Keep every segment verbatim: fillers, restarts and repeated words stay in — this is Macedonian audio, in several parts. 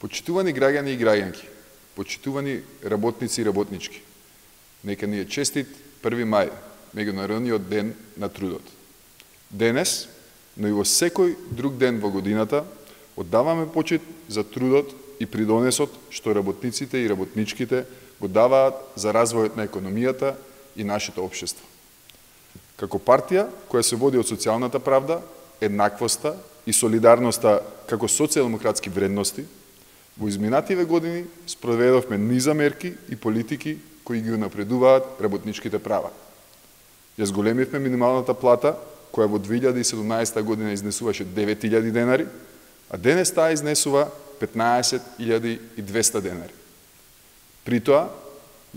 Почитувани граѓани и граѓанки, почитувани работници и работнички, нека ни е честит први мај, меѓународниот ден на трудот. Денес, но и во секој друг ден во годината, оддаваме почит за трудот и придонесот што работниците и работничките го даваат за развојот на економијата и нашето општество. Како партија која се води од социјалната правда, еднаквоста и солидарноста како социјалдемократски вредности, во изминативе години спроведовме низа мерки и политики кои ги унапредуваат работничките права. Ја зголемивме минималната плата, која во две илјади и седумнаесетта година изнесуваше девет илјади денари, а денес таа изнесува петнаесет илјади и двесте денари. При тоа,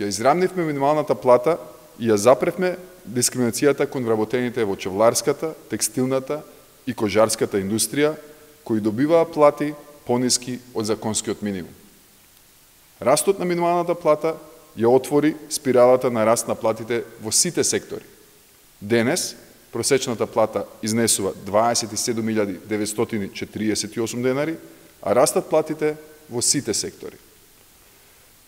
ја израмнивме минималната плата и ја запревме дискриминацијата кон вработените во чевларската, текстилната и кожарската индустрија, кои добиваа плати пониски од законскиот минимум. Растот на минималната плата ја отвори спиралата на раст на платите во сите сектори. Денес, просечната плата изнесува дваесет и седум илјади деветстотини четиридесет и осум денари, а растат платите во сите сектори.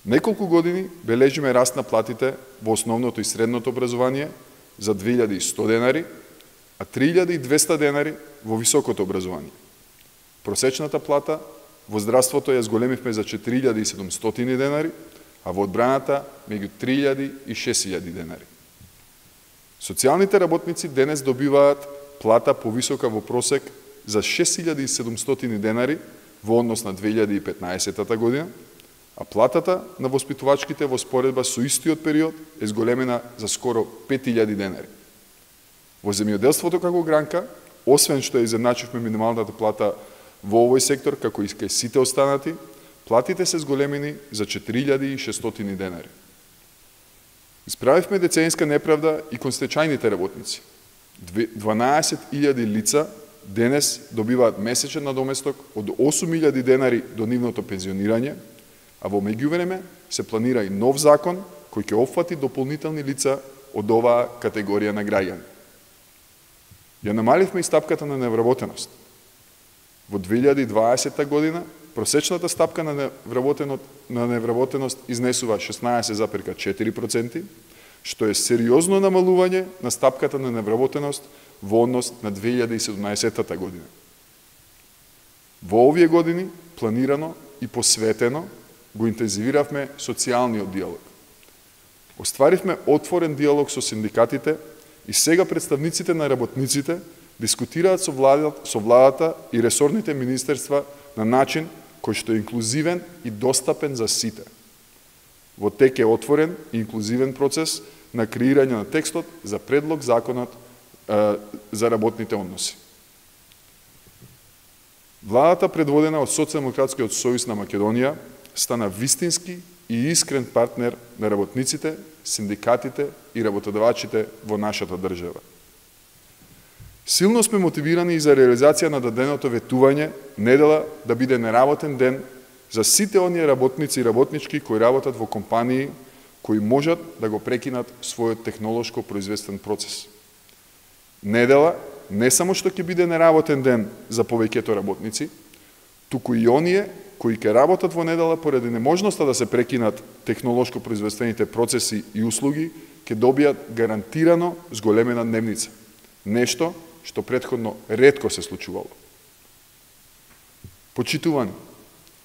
Неколку години бележиме раст на платите во основното и средното образование за две илјади и сто денари, а три илјади и двесте денари во високото образование. Просечната плата во здравството ја зголемивме за четири илјади и седумстотини денари, а во одбраната меѓу три илјади и шест илјади денари. Социјалните работници денес добиваат плата повисока во просек за шест илјади и седумстотини денари во однос на две илјади и петнаесетта година, а платата на воспитувачките во споредба со истиот период е зголемена за скоро пет илјади денари. Во земјоделството како гранка, освен што ја изедначивме минималната плата во овој сектор, како и кај сите останати, платите се зголемени за четири илјади и шестстотини денари. Исправивме деценска неправда и кон стечајните работници. дванаесет илјади лица денес добиваат месечен надоместок од осум илјади денари до нивното пензионирање, а во меѓувреме се планира и нов закон кој ќе опфати дополнителни лица од оваа категорија на граѓани. Ја намаливме и стапката на невработеност. Во две илјади и дваесетта година просечната стапка на на невработеност изнесува шеснаесет запирка четири проценти, што е сериозно намалување на стапката на невработеност во однос на две илјади и седумнаесетта година. Во овие години планирано и посветено го интензивиравме социјалниот диалог. Остваривме отворен диалог со синдикатите и сега представниците на работниците дискутираат со владата, со владата и ресорните министерства на начин кој што е инклузивен и достапен за сите. Во тек е отворен и инклузивен процес на креирање на текстот за предлог законот е, за работните односи. Владата, предводена од Социјалдемократскиот сојуз на Македонија, стана вистински и искрен партнер на работниците, синдикатите и работодавачите во нашата држава. Силно сме мотивирани и за реализација на даденото ветување недела да биде неработен ден за сите оние работници и работнички кои работат во компании кои можат да го прекинат својот технолошко производствен процес. Недела не само што ќе биде неработен ден за повеќето работници, туку и оние кои ќе работат во недела поради неможноста да се прекинат технолошко производствените процеси и услуги, ќе добијат гарантирано зголемена дневница. Нешто што претходно ретко се случувало. Почитувани,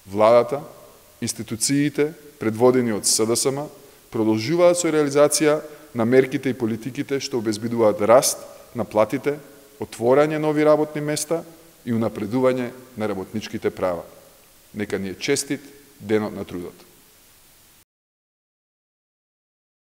владата, институциите, предводени од С Д С М, продолжуваат со реализација на мерките и политиките што обезбедуваат раст на платите, отворање нови работни места и унапредување на работничките права. Нека ни е честит денот на трудот.